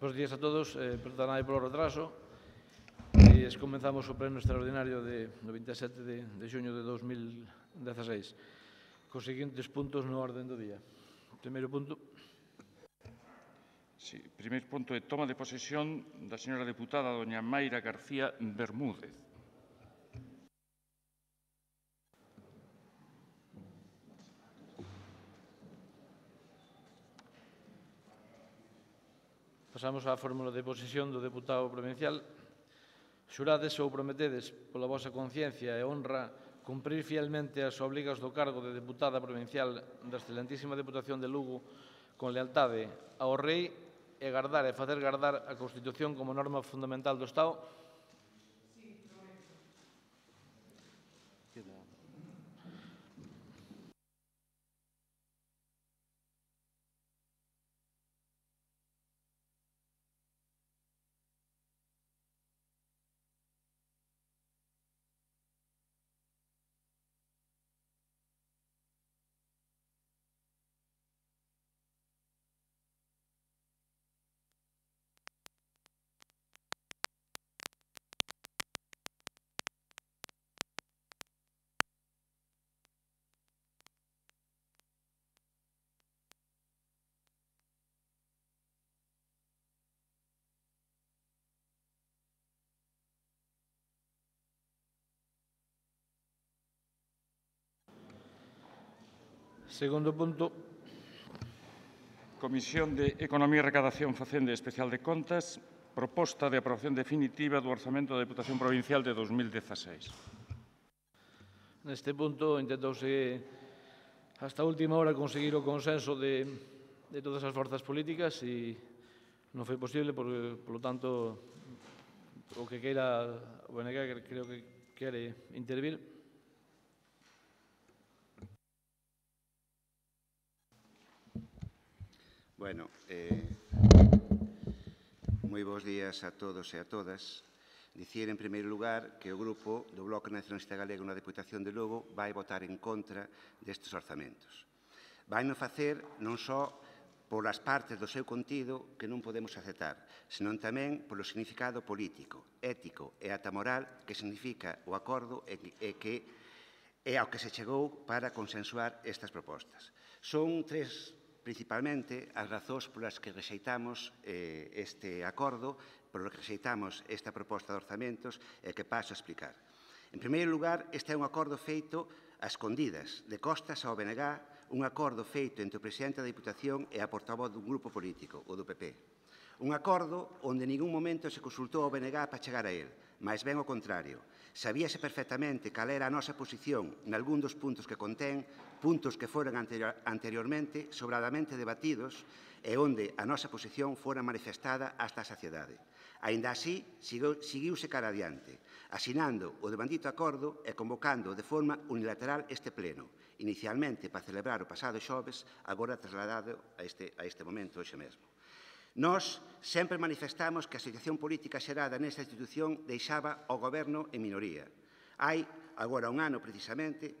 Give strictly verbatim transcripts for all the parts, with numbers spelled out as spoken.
Bos días a todos, eh, perdonade polo retraso. E comenzamos o pleno extraordinario de, do vinte e sete de, de xuño de dos mil dezaseis, cos seguintes puntos no orden do día. Primeiro punto. Sí, primeiro punto é toma de posesión da señora deputada doña Mayra García Bermúdez. Pasamos á fórmula de posesión do deputado provincial. Xurades ou prometedes pola vosa conciencia e honra cumprir fielmente as obrigas do cargo de deputada provincial da excelentísima Deputación de Lugo con lealtade ao Rei e gardar e facer gardar a Constitución como norma fundamental do Estado? Segundo punto. Comisión de Economía, Recadación, Facenda e Especial de Contas, proposta de aprobación definitiva do Orzamento da Deputación Provincial de dos mil dezaseis. Neste punto intentouse hasta a última hora conseguir o consenso de, de todas as forzas políticas e non foi posible, porque, polo tanto, o que queira o B N G creo que quere intervir. Bueno, eh, moi bons días a todos e a todas. Dicir, en primeiro lugar, que o Grupo do Bloque Nacionalista Galego na Deputación de Lugo vai votar en contra destes orzamentos. Vai non facer non só polas partes do seu contido que non podemos aceptar, senón tamén polo significado político, ético e ata moral que significa o acordo e que é ao que se chegou para consensuar estas propostas. Son tres principalmente as razóns polas que rexeitamos eh, este acordo, polas que rexeitamos esta proposta de orzamentos e que paso a explicar. En primeiro lugar, este é un acordo feito a escondidas, de costas ao B N G, un acordo feito entre o presidente da Diputación e a portavoz dun grupo político, o do P P. Un acordo onde en ningún momento se consultou ao B N G para chegar a él, máis ben o contrario. Sabíase perfectamente cal era a nosa posición nalgún dos puntos que contén, puntos que foran anterior, anteriormente sobradamente debatidos e onde a nosa posición fora manifestada hasta a saciedade. Aínda así, seguiuse cara adiante, asinando o devandito acordo e convocando de forma unilateral este pleno, inicialmente para celebrar o pasado xoves, agora trasladado a este, a este momento, hoxe mesmo. Nós sempre manifestamos que a situación política xerada nesta institución deixaba o Goberno en minoría. Hai, agora un ano precisamente,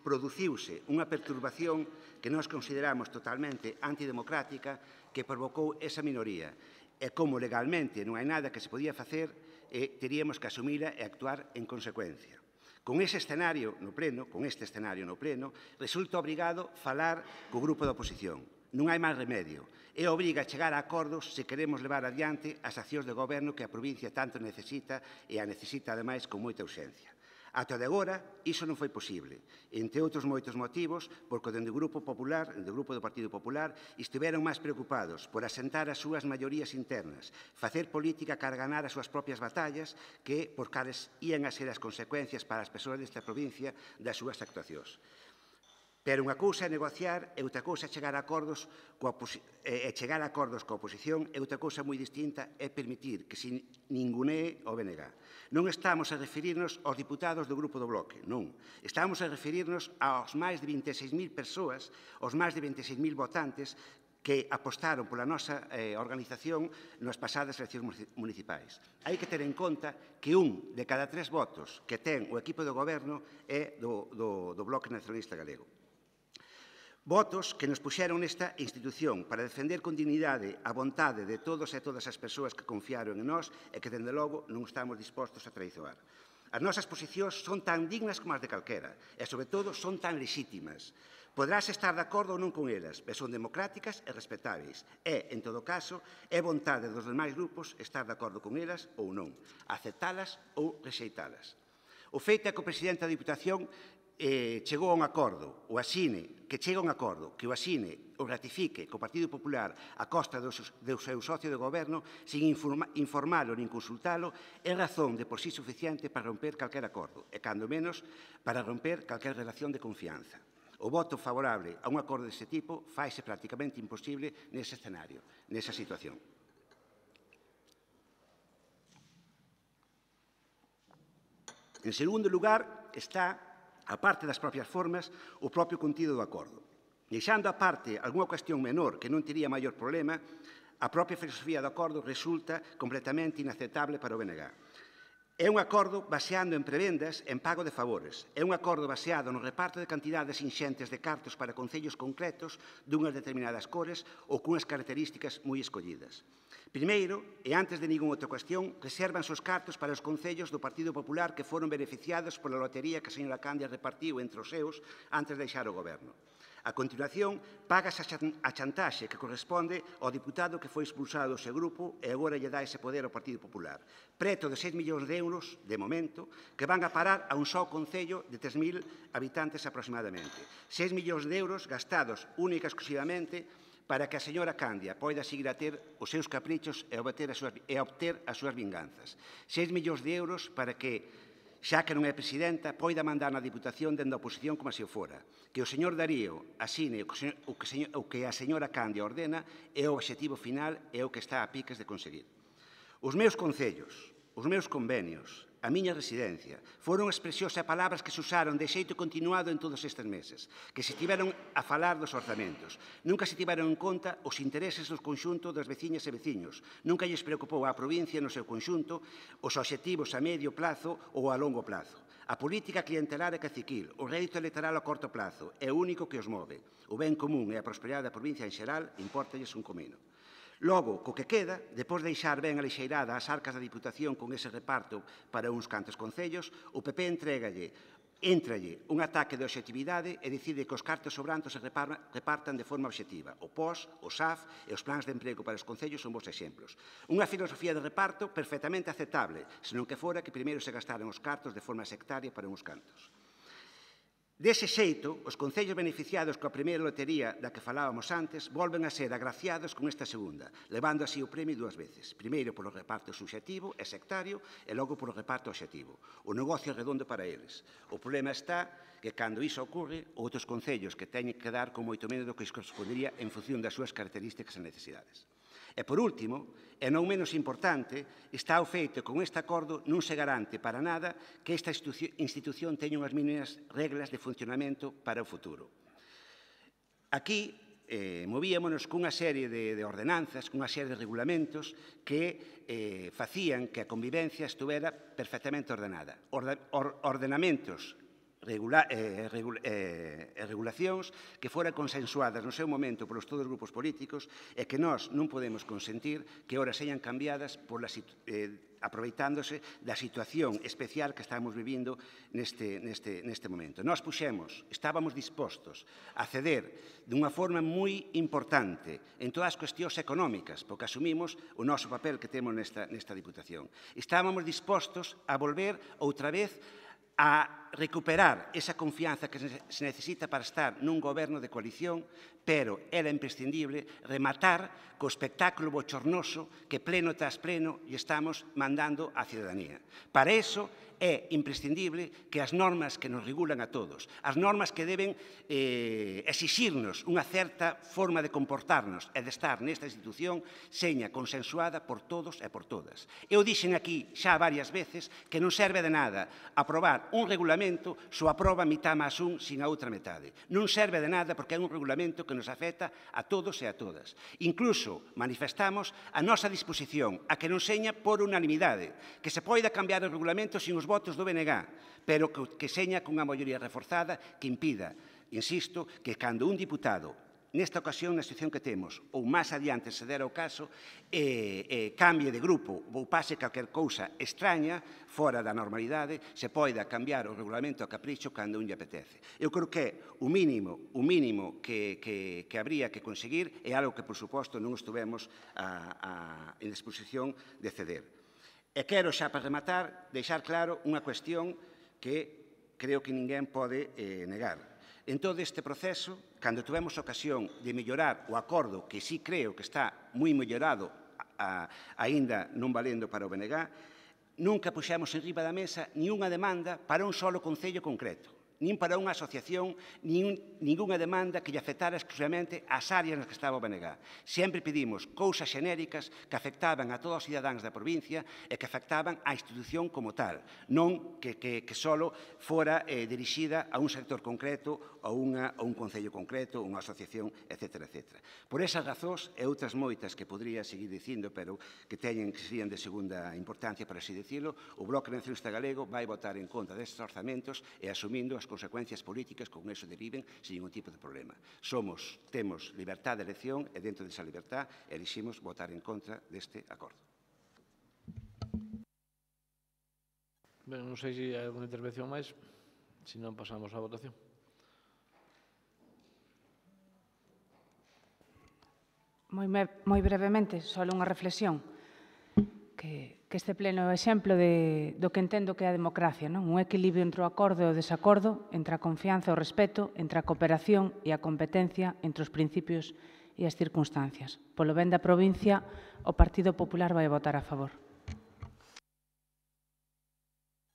produciuse unha perturbación que nós consideramos totalmente antidemocrática que provocou esa minoría. E como legalmente non hai nada que se podía facer, eh, teríamos que asumila e actuar en consecuencia. Con ese escenario no pleno, con este escenario no pleno, resulta obrigado falar co grupo da oposición. Non hai máis remedio. E obriga a chegar a acordos se queremos levar adiante as accións de goberno que a provincia tanto necesita e a necesita, ademais, con moita urxencia. Ata de agora, iso non foi posible, entre outros moitos motivos, porque dende o Grupo Popular, dende o Grupo do Partido Popular, estiveron máis preocupados por asentar as súas maiorías internas, facer política cara ganar as súas propias batallas, que por cales ían a ser as consecuencias para as persoas desta provincia das súas actuacións. Pero unha cousa é negociar e outra cousa é chegar a acordos coa e chegar a acordos coa oposición e outra cousa moi distinta é permitir que se ningunee o B N G. Non estamos a referirnos aos diputados do Grupo do Bloque, non. Estamos a referirnos aos máis de vinte e seis mil persoas, aos máis de vinte e seis mil votantes que apostaron pola nosa eh, organización nas pasadas eleccións municipais. Hai que ter en conta que un de cada tres votos que ten o equipo do goberno é do, do, do Bloque Nacionalista Galego. Votos que nos puxeron nesta institución para defender con dignidade a vontade de todos e todas as persoas que confiaron en nós e que, dende logo, non estamos dispostos a traizoar. As nosas posicións son tan dignas como as de calquera e, sobre todo, son tan lexítimas. Poderás estar de acordo ou non con elas, pero son democráticas e respetáveis. E, en todo caso, é vontade dos demais grupos estar de acordo con elas ou non, aceptalas ou rexeitalas. O feito é que o presidente da Diputación Eh, chegou a un acordo, o asine, que chega a un acordo, que o asine, o ratifique co Partido Popular a costa do, do seu socio de goberno, sin informa, informalo nin consultalo, é razón de por sí suficiente para romper calquer acordo, e cando menos para romper calquer relación de confianza. O voto favorable a un acordo deste tipo faise prácticamente imposible nese escenario, nesa situación. En segundo lugar, está, a parte das propias formas, o propio contido do acordo. Deixando a parte algunha cuestión menor que non tería maior problema, a propia filosofía do acordo resulta completamente inaceptable para o B N G. É un acordo baseado en prebendas en pago de favores. É un acordo baseado no reparto de cantidades inxentes de cartos para concellos concretos dunhas determinadas cores ou cunhas características moi escollidas. Primeiro, e antes de ningunha outra cuestión, resérvanse os cartos para os concellos do Partido Popular que foron beneficiados pola lotería que a señora Candia repartiu entre os seus antes de deixar o goberno. A continuación, págase a chantaxe que corresponde ao diputado que foi expulsado do seu grupo e agora lle dá ese poder ao Partido Popular. Preto de seis millóns de euros, de momento, que van a parar a un só concello de tres mil habitantes aproximadamente. seis millóns de euros gastados única e exclusivamente para que a señora Candia poida seguir a ter os seus caprichos e obter as súas, e obter as súas vinganzas. seis millóns de euros para que, xa que non é presidenta, poida mandar na Diputación dende a oposición como se o fora. Que o señor Darío asine o que, o, que, o que a señora Candia ordena é o obxectivo final e o que está a piques de conseguir. Os meus concellos, os meus convenios, a miña residencia, foron expresións e palabras que se usaron de xeito continuado en todos estes meses, que se tiveron a falar dos orzamentos. Nunca se tiveron en conta os intereses do conxunto das veciñas e veciños. Nunca lles preocupou á provincia no seu conxunto os obxectivos a medio plazo ou a longo plazo. A política clientelar e caciquil, o rédito electoral a corto plazo, é o único que os move. O ben común e a prosperidade da provincia en xeral importalles un comino. Logo, co que queda, depois de deixar ben alixeirada as arcas da Diputación con ese reparto para uns cantos concellos, o P P entregalle, entralle un ataque de obxectividade e decide que os cartos sobrantes se repartan de forma obxectiva. O P O S, o S A F e os plans de emprego para os concellos son bons exemplos. Unha filosofía de reparto perfectamente aceptable, senón que fora que primeiro se gastaran os cartos de forma sectaria para uns cantos. Dese xeito, os concellos beneficiados coa primeira lotería da que falábamos antes volven a ser agraciados con esta segunda, levando así o premio dúas veces. Primeiro polo reparto subxectivo e sectario e logo polo reparto obxectivo. O negocio é redondo para eles. O problema está que, cando iso ocorre, outros concellos que teñen que dar con moito menos do que correspondería en función das súas características e necesidades. E, por último, e non menos importante, está o feito que con este acordo non se garante para nada que esta institución teña unhas mínimas reglas de funcionamento para o futuro. Aquí eh, movíamonos cunha serie de, de ordenanzas, cunha serie de regulamentos que eh, facían que a convivencia estuvera perfectamente ordenada. Orde, or, ordenamentos Regula, eh, regula, eh, regulacións que foran consensuadas no seu momento polos todos os grupos políticos e que nós non podemos consentir que ora señan cambiadas por la, eh, aproveitándose da situación especial que estamos vivindo neste, neste, neste momento. Nós puxemos, estábamos dispostos a ceder dunha forma moi importante en todas as cuestións económicas, porque asumimos o noso papel que temos nesta, nesta Diputación. Estábamos dispostos a volver outra vez a recuperar esa confianza que se necesita para estar nun goberno de coalición, pero era imprescindible rematar co espectáculo bochornoso que pleno tras pleno lle estamos mandando á cidadanía. Para iso é imprescindible que as normas que nos regulan a todos, as normas que deben eh, exixirnos unha certa forma de comportarnos e de estar nesta institución, seña consensuada por todos e por todas. Eu dixen aquí xa varias veces que non serve de nada aprobar un regulamento só aproba mitad máis un sin a outra metade. Non serve de nada porque é un regulamento que nos afecta a todos e a todas. Incluso manifestamos a nosa disposición a que non seña por unanimidade, que se poida cambiar o regulamento sin os votos do B N G, pero que, que seña cunha maioría reforzada que impida insisto, que cando un diputado, nesta ocasión, na situación que temos, ou máis adiante se dera o caso, eh, eh, cambie de grupo ou pase calquer cousa extraña, fora da normalidade, se poida cambiar o regulamento a capricho cando un lle apetece. Eu creo que o mínimo, o mínimo que, que, que habría que conseguir é algo que, por suposto, non estuvemos a, a, en disposición de ceder. E quero xa para rematar deixar claro unha cuestión que creo que ninguén pode eh, negar. En todo este proceso, cando tivemos ocasión de mellorar o acordo, que sí creo que está moi mellorado, a, aínda non valendo para o B N G, nunca puxemos en riba da mesa ni unha demanda para un solo concello concreto, nin para unha asociación, nin ningunha demanda que lle afectara exclusivamente ás áreas nas que estaba o B N G. Sempre pedimos cousas xenéricas que afectaban a todos os cidadáns da provincia e que afectaban á institución como tal, non que, que, que solo fora eh, dirixida a un sector concreto, a, unha, a un concello concreto, unha asociación, etcétera, etcétera. Por esas razóns e outras moitas que podría seguir dicindo, pero que teñen que serían de segunda importancia, para así dicilo, o Bloque Nacionalista Galego vai votar en contra destes orzamentos e asumindo as consecuencias políticas que con eso deriven sin ningún tipo de problema. Somos, temos libertad de elección e dentro desa libertad eliximos votar en contra deste acordo. Ben, non sei se hai alguna intervención máis, se non pasamos á votación. Moi, moi brevemente, só unha reflexión. Que, que este pleno é o exemplo de, do que entendo que é a democracia, non? Un equilibrio entre o acordo e o desacordo, entre a confianza e o respeto, entre a cooperación e a competencia, entre os principios e as circunstancias. Polo ben da provincia, o Partido Popular vai votar a favor.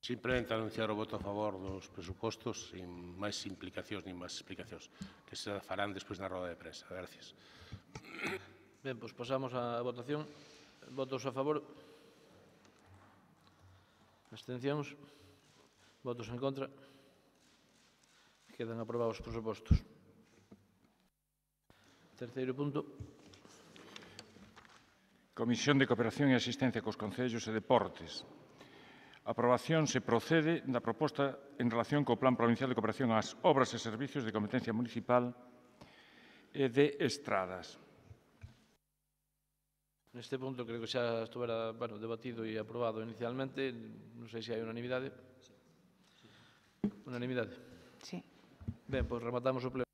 Simplemente anunciar o voto a favor dos presupostos sin máis implicacións nin máis explicacións, que se farán despois na roda de prensa. Gracias. Ben, pois pasamos á votación. Votos a favor. Abstencións. Votos en contra. Quedan aprobados os presupostos. Terceiro punto. Comisión de Cooperación e Asistencia cos Concellos e Deportes. A aprobación se procede da proposta en relación co Plan Provincial de Cooperación ás obras e servicios de competencia municipal e de estradas. Neste punto creo que xa estuvera bueno, debatido e aprobado inicialmente. Non sei se hai unanimidade. Unanimidade. Sí. Ben, pois rematamos o pleno.